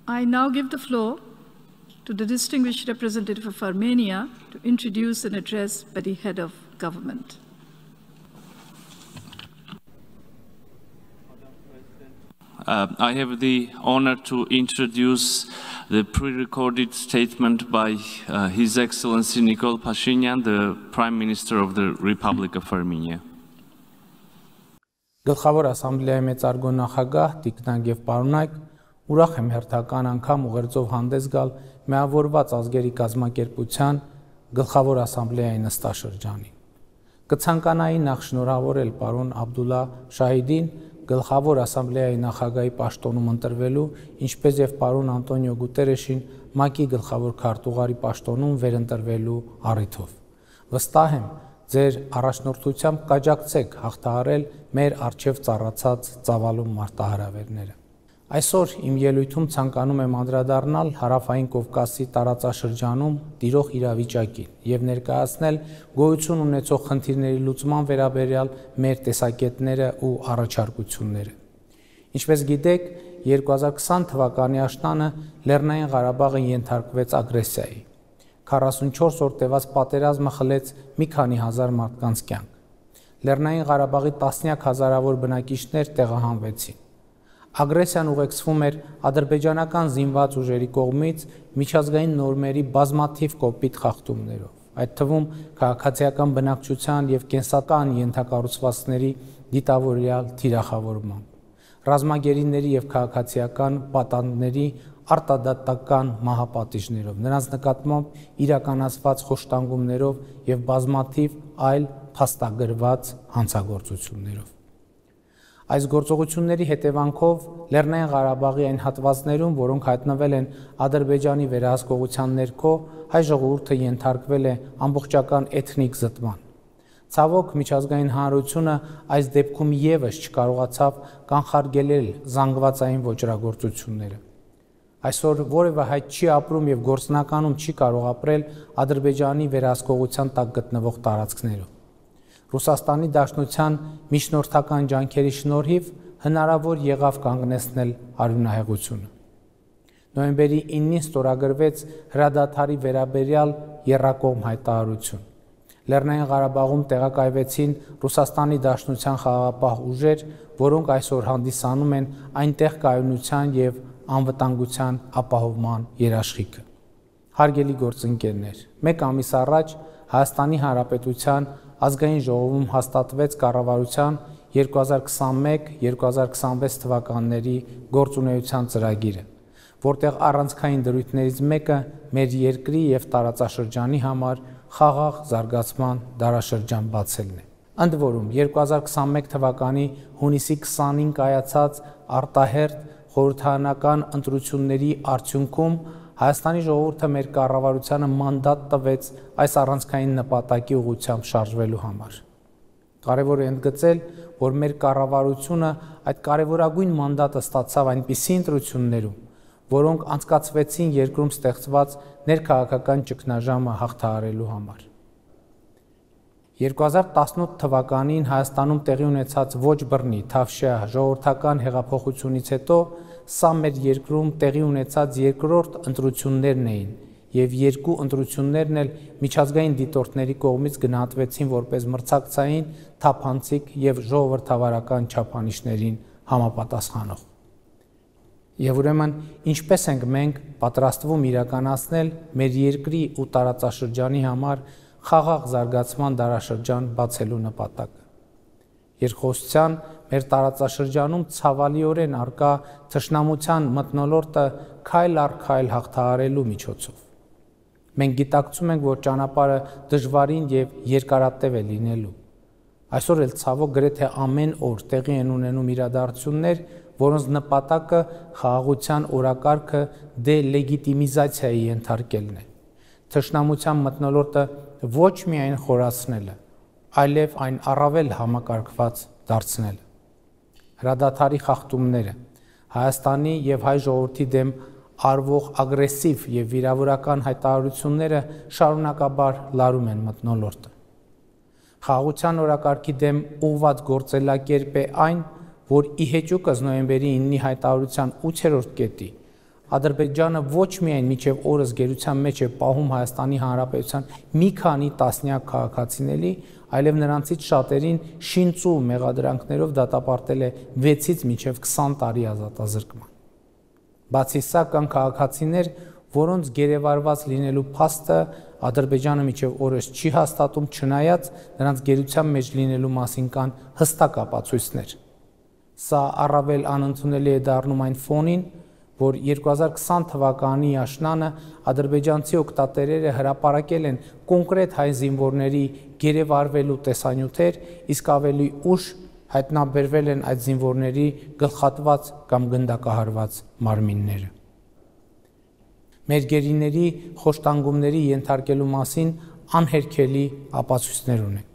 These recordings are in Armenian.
I now give the floor to the distinguished representative of Armenia to introduce an address by the head of government. I have the honor to introduce the pre-recorded statement by His Excellency Nikol Pashinyan, the Prime Minister of the Republic of Armenia. Գլխավոր ասամբլեայի մեծարգո նախագահ Տիկնակ եւ պարոնայք, ուրախ եմ հերթական անգամ ուղերձով հանդես գալ միավորված ազգերի կազմակերպության գլխավոր ասամբլեայի նստաշրջանին։ Կցանկանայի նախ շնորհավորել պարոն Աբդուլլա Շահիդին գլխավոր ասամբլեայի նախագահի պաշտոնում ընտրվելու, ինչպես եւ պարոն Անտոնիո Գուտերեշին ՄԱԿ-ի գլխավոր քարտուղարի պաշտոնում վերընտրվելու առիթով։ Վստահ եմ, ձեր առաջնորդությամբ կաջակցեք հաղթահարել մեր առջև ծառացած ծավալուն մարտահրավերները։ Այսօր իմ ելույթում ցանկանում եմ անդրադառնալ Հարավային Կովկասի տարածաշրջանում տիրող իրավիճակին եւ ներկայացնել գոյություն ունեցող խնդիրների լուծման վերաբերյալ մեր տեսակետները ու առաջարկությունները։ Ինչպես գիտեք, 2020 թվականի աշնանը Լեռնային Ղարաբաղը ենթարկվեց ագրեսիայի։ 44 օր տևած պատերազմը խլեց մի քանի հազար մարդկանց կյանք։ Լեռնային Ղարաբաղի տասնյակ հազարավոր բնակիչներ տեղահանվեցին։ Ագրեսիան ուղեկցվում էր ադրբեջանական զինված ուժերի կողմից միջազգային նորմերի բազմաթիվ կոպիտ խախտումներով, այդ թվում քաղաքացիական բնակչության եւ կենսական ենթակառուցվածքների դիտավորյալ թիրախավորմամբ, ռազմագերիների եւ քաղաքացիական պատանդների արտադատական մահապատիժներով, նրանց նկատմամբ իրականացված խոշտանգումներով եւ բազմաթիվ այլ փաստագրված հանցագործություններով։ Այս գործողությունների հետևանքով Լեռնային Ղարաբաղի այն հատվածներում, որոնք հայտնվել են Ադրբեջանի վերահսկողության ներքո, հայ ժողովուրդը ենթարկվել է ամբողջական էթնիկ զտման։ Ցավոք, միջազգային հանրությունը այս դեպքում եւս չկարողացավ կանխարգելել զանգվածային ոճրագործությունները։ Այսօր որևէ հայ չի ապրում եւ գործնականում չի կարող ապրել Ադրբեջանի վերահսկողության տակ գտնվող տարածքներում։ Ռուսաստանի Դաշնության միջնորդական ջանքերի շնորհիվ հնարավոր եղավ կանգնեցնել արյունահեղությունը։ Նոյեմբերի 9-ին ստորագրվեց հրադադարի վերաբերյալ եռակողմ հայտարարություն։ Լեռնային Ղարաբաղում տեղակայվեցին Ռուսաստանի Դաշնության խաղաղապահ ուժեր, որոնք այսօր հանդիսանում են այնտեղ կայունության եւ անվտանգության ապահովման երաշխիքը։ Հարգելի գործընկերներ, մեկ ամիս առաջ Հայաստանի Հանրապետության ազգային ժողովում հաստատվեց կառավարության 2021-2026 թվականների գործունեության ծրագիրը, որտեղ առանցքային դրույթներից մեկը մեր երկրի եւ տարածաշրջանի համար խաղաղ զարգացման դարաշրջան բացելն է։ Ընդ որում 2021 թվականի հունիսի 20-ին կայացած արտահերթ խորհրդարանական ընտրությունների արդյունքում Հայաստանի ժողովուրդը մեր կառավարությանը մանդատ տվեց այս առանցքային նպատակի ուղղությամբ շարժվելու համար։ Կարևոր է ընդգծել, որ մեր կառավարությունը այդ կարևորագույն մանդատը ստացավ այնպիսի ընտրություններում, որոնք անցկացվեցին երկրում ստեղծված ներքաղաքական ճգնաժամը հաղթահարելու համար։ 2018 թվականին Հայաստանում տեղի ունեցած ոչ բռնի թավշյա ժողովրդական հեղափոխությունից հետո սա մեր երկրում տեղի ունեցած երկրորդ ընտրություններն էին եւ երկու ընտրություններն էլ միջազգային դիտորդների կողմից գնահատվեցին որպես մրցակցային, թափանցիկ եւ ժողովրդավարական չափանիշներին համապատասխանող։ Եվ ուրեմն ինչպես ենք մենք պատրաստվում իրականացնել մեր երկրի ու տարածաշրջանի համար խաղաղ զարգացման դարաշրջան բացելու նպատակը։ Երկխոսության մեր տարածաշրջանում ցավալիորեն արկա թշնամության մթնոլորտը քայլ առ քայլ հաղթահարելու միջոցով։ Մենք գիտակցում ենք, որ ճանապարհը դժվարին եւ երկարատև է լինելու։ Այսօր էլ ցավոք գրեթե ամեն օր տեղի են ունենում իրադարձություններ, որոնց նպատակը խաղաղության օրակարգը դելեգիտիմիզացիայի ենթարկելն է։ Թշնամության մթնոլորտը ոչ միայն խորացնելը, այլև այն առավել համակարգված դարձնելը։ Հրադադարի խախտումները, Հայաստանի եւ հայ ժողովրդի դեմ արվող ագրեսիվ եւ վիրավորական հայտարարությունները շարունակաբար լարում են մթնոլորտը։ Խաղաղության օրակարգի դեմ ուղղված գործելակերպ է այն, որ ի հեճուկս նոյեմբերի 9-ի հայտարարության 8-րդ կետի Ադրբեջանը ոչ միայն մինչև օրս գերության մեջ է պահում Հայաստանի Հանրապետության մի քանի տասնյակ քաղաքացիների, այլև նրանցից շատերին շինծու մեղադրանքներով դատապարտել է 6-ից մինչև 20 տարի ազատազրկման։ Բացի սա կան քաղաքացիներ, որոնց գերեվարված լինելու փաստը Ադրբեջանը մինչև օրս չի հաստատում, չնայած նրանց գերության մեջ լինելու մասին կան հստակ ապացույցներ։ Սա առավել անընդունելի է դառնում այն ֆոնին, որ 2020 թվականի աշնանը ադրբեջանցի օգտատերերը հրապարակել են կոնկրետ հայ զինվորների գերեվարվելու տեսանյութեր, իսկ ավելի ուշ հայտնաբերվել են այդ զինվորների գլխատված կամ գնդակահարված մարմինները։ Մեր գերիների խոշտանգումների ենթարկելու մասին անհերքելի ապացույցներ ունենք։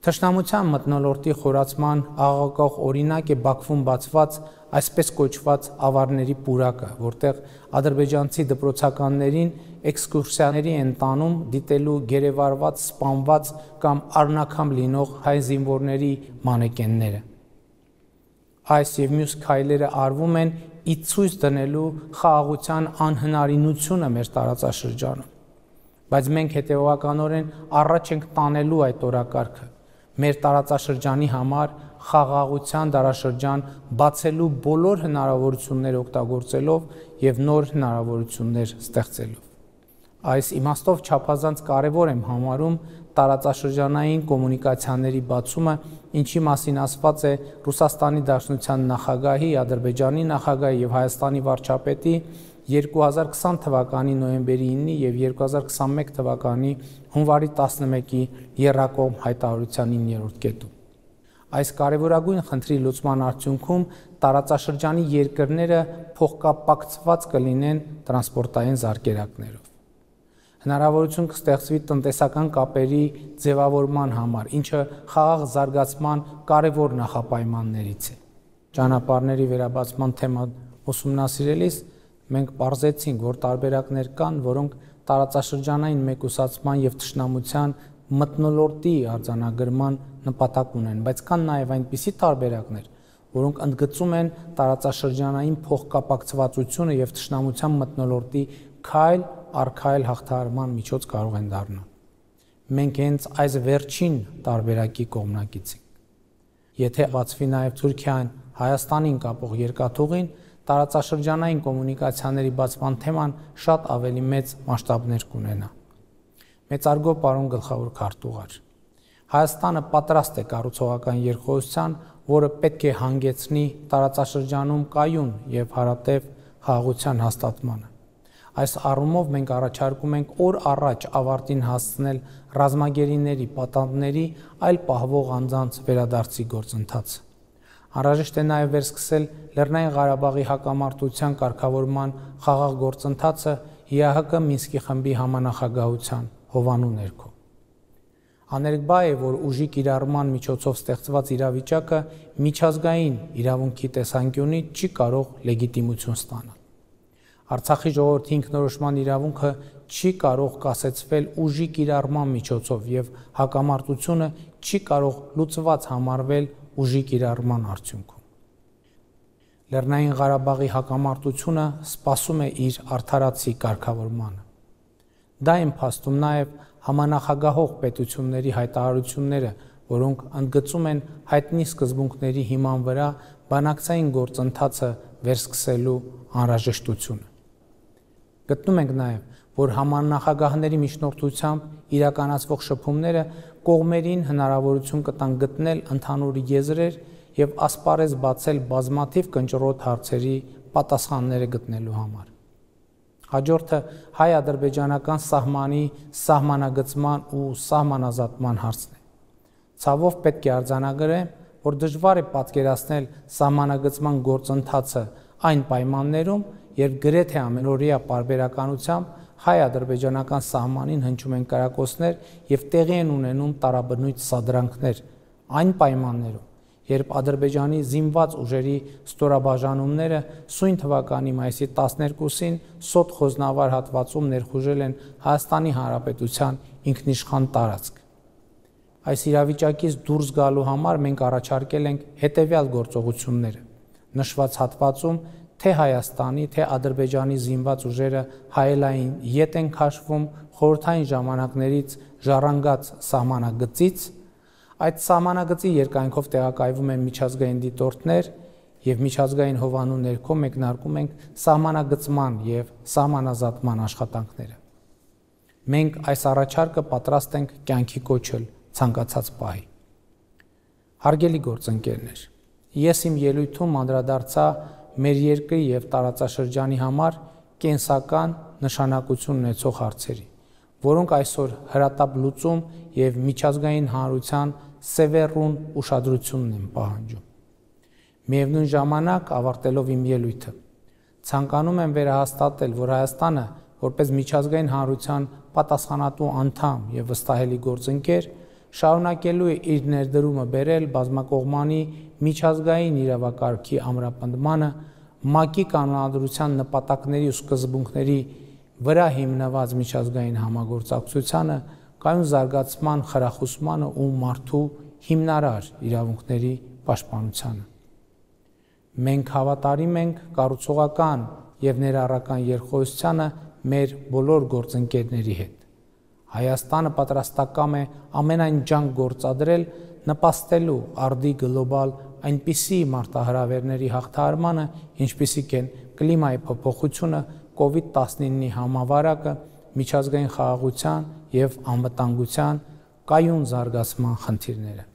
Թշնամության մթնոլորտի խորացման աղաղակող օրինակ է Բաքվում բացված այսպես կոչված ավարների պուրակը, որտեղ ադրբեջանցի դպրոցականներին էքսկուրսիաների են տանում դիտելու գերեվարված, սպանված կամ առնաքամ լինող հայ զինվորների մանեկենները։ Այս եւ մյուս քայլերը արվում են ի ցույց դնելու խաղաղության անհնարինությունը մեր տարածաշրջանում, բայց մենք հետևողականորեն առաջ ենք տանելու այդ օրակարգը, մեր տարածաշրջանի համար խաղաղության դարաշրջան բացելու բոլոր հնարավորությունները օգտագործելով եւ նոր հնարավորություններ ստեղծելով։ Այս իմաստով չափազանց կարևոր եմ համարում տարածաշրջանային կոմունիկացիաների բացումը, ինչի մասին ասված է Ռուսաստանի Դաշնության նախագահի, Ադրբեջանի նախագահի եւ Հայաստանի վարչապետի 2020 թվականի նոյեմբերի 9-ի եւ 2021 թվականի հունվարի 11-ի եռակողմ հայտարարության 9-րդ կետում։ Այս կարևորագույն խնդրի լուծման արդյունքում տարածաշրջանի երկրները փոխկապակցված կլինեն տրանսպորտային զարկերակներով։ Հնարավորություն կստեղծվի տնտեսական կապերի ձևավորման համար, ինչը խաղաղ զարգացման կարևոր նախապայմաններից է։ Ճանապարհների վերաբացման թեման ուսումնասիրելիս մենք պարզեցինք, որ տարբերակներ կան, որոնք տարածաշրջանային մեկուսացման եւ թշնամության մթնոլորտի արձանագրման նպատակ ունեն, բայց կան նաեւ այնպիսի տարբերակներ, որոնք ընդգծում են տարածաշրջանային փոխկապակցվածությունը եւ թշնամության մթնոլորտի քայլ առ քայլ հաղթահարման միջոց կարող են դառնալ։ Մենք հենց այս վերջին տարբերակի կողմնակից ենք։ Եթե բացվի նաև Թուրքիան Հայաստանին կապող երկաթուղին, տարածաշրջանային կոմունիկացիաների բացման թեման շատ ավելի մեծ մասշտաբներ կունենա։ Մեծարգո պարոն գլխավոր քարտուղար, Հայաստանը պատրաստ է կառուցողական երկխոսության, որը պետք է հանգեցնի տարածաշրջանում կայուն եւ հարատև խաղաղության հաստատմանը։ Այս առումով մենք առաջարկում ենք օր առաջ ավարտին հասցնել ռազմագերիների, պատանդների, այլ պահվող անձանց վերադարձի գործընթացը։ Անհրաժեշտ է նաև վերսկսել Լեռնային Ղարաբաղի հակամարտության կարգավորման խաղաղ գործընթացը ՀՀԿ Մինսկի խմբի համանախագահության հովանու ներքո։ Աներկբա է, որ ուժի կիրառման միջոցով ստեղծված իրավիճակը միջազգային իրավունքի տեսանկյունից չի կարող լեգիտիմություն ստանալ։ Արցախի ժողովրդի ինքնորոշման իրավունքը չի կարող կասեցվել ուժի կիրառման միջոցով եւ հակամարտությունը չի կարող լուծված համարվել ուժի կիրառման արդյունքում։ Լեռնային Ղարաբաղի հակամարտությունը սպասում է իր արդարացի կարգավորմանը։ Դա են փաստում նաեւ համանախագահող պետությունների հայտարարությունները, որոնք ընդգծում են հայտնի սկզբունքների հիման վրա բանակցային գործընթացը վերսկսելու անհրաժեշտությունը։ Գտնում ենք նաև, որ համանախագահների միջնորդությամբ իրականացվող շփումները կողմերին հնարավորություն կտան գտնել ընդհանուր եզրեր եւ ասպարեզ բացել բազմաթիվ կնճռոտ հարցերի պատասխանները գտնելու համար։ Հաջորդը հայ-ադրբեջանական սահմանի սահմանագծման ու սահմանազատման հարցն է։ Ցավով պետք է արձանագրեմ, որ դժվար է պատկերացնել սահմանագծման գործընթացը այն պայմաններում, երբ գրեթե ամենօրյա պարբերականությամբ հայ-ադրբեջանական սահմանին հնչում են կրակոցներ եւ տեղի են ունենում տարաբնույթ սադրանքներ, այն պայմաններում, երբ Ադրբեջանի զինված ուժերի ստորաբաժանումները սույն թվականի մայիսի 12-ին Սոտ խոզնավար հատվածում ներխուժել են Հայաստանի Հանրապետության ինքնիշխան տարածք։ Այս իրավիճակից դուրս գալու համար մենք առաջարկել ենք հետևյալ գործողությունները։ Նշված հատվածում թե Հայաստանի, թե Ադրբեջանի զինված ուժերը հայելային ետ են քաշվում խորհրդային ժամանակներից ժառանգած սահմանագծից, այդ սահմանագծի երկայնքով տեղակայվում են միջազգային դիտորդներ եւ միջազգային հովանու ներքո մեկնարկում ենք սահմանագծման եւ սահմանազատման աշխատանքները։ Մենք այս առաջարկը պատրաստ ենք կյանքի կոչել ցանկացած պահի։ Հարգելի գործընկերներ, ես իմ ելույթում անդրադարձա մեր երկրի եւ տարածաշրջանի համար կենսական նշանակություն ունեցող հարցերի, որոնք այսօր հրատապ լուծում եւ միջազգային հանրության սևեռուն ուշադրությունն են պահանջում։ Միևնույն ժամանակ, ավարտելով իմ ելույթը, ցանկանում եմ վերահաստատել, որ Հայաստանը, որպես միջազգային հանրության պատասխանատու անդամ եւ վստահելի գործընկեր, շարունակելու է իր ներդրումը բերել բազմակողմանի միջազգային իրավակարգի ամրապնդմանը, ՄԱԿ-ի կանոնադրության նպատակների ու սկզբունքների վրա հիմնված միջազգային համագործակցությանը, կայուն զարգացման խրախուսմանը ու մարդու հիմնարար իրավունքների պաշտպանությանը։ Մենք հավատարիմ ենք կառուցողական եւ ներառական երկխոսությանը մեր բոլոր գործընկերների հետ։ Հայաստանը պատրաստակամ է ամենայն ջանք գործադրել նպաստելու արդի գլոբալ այնպիսի մարտահրավերների հաղթահարմանը, ինչպիսիք են կլիմայի փոփոխությունը, COVID-19-ի համավարակը, միջազգային խաղաղության եւ անվտանգության կայուն զարգացման խնդիրները։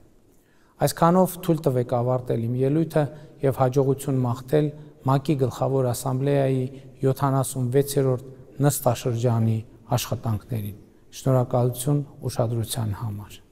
Այսքանով թույլ տվեք ավարտել իմ ելույթը եւ հաջողություն մաղթել ՄԱԿ-ի գլխավոր ասամբլեայի 76-րդ նստաշրջանի աշխատանքներին։ Շնորհակալություն ուշադրության համար։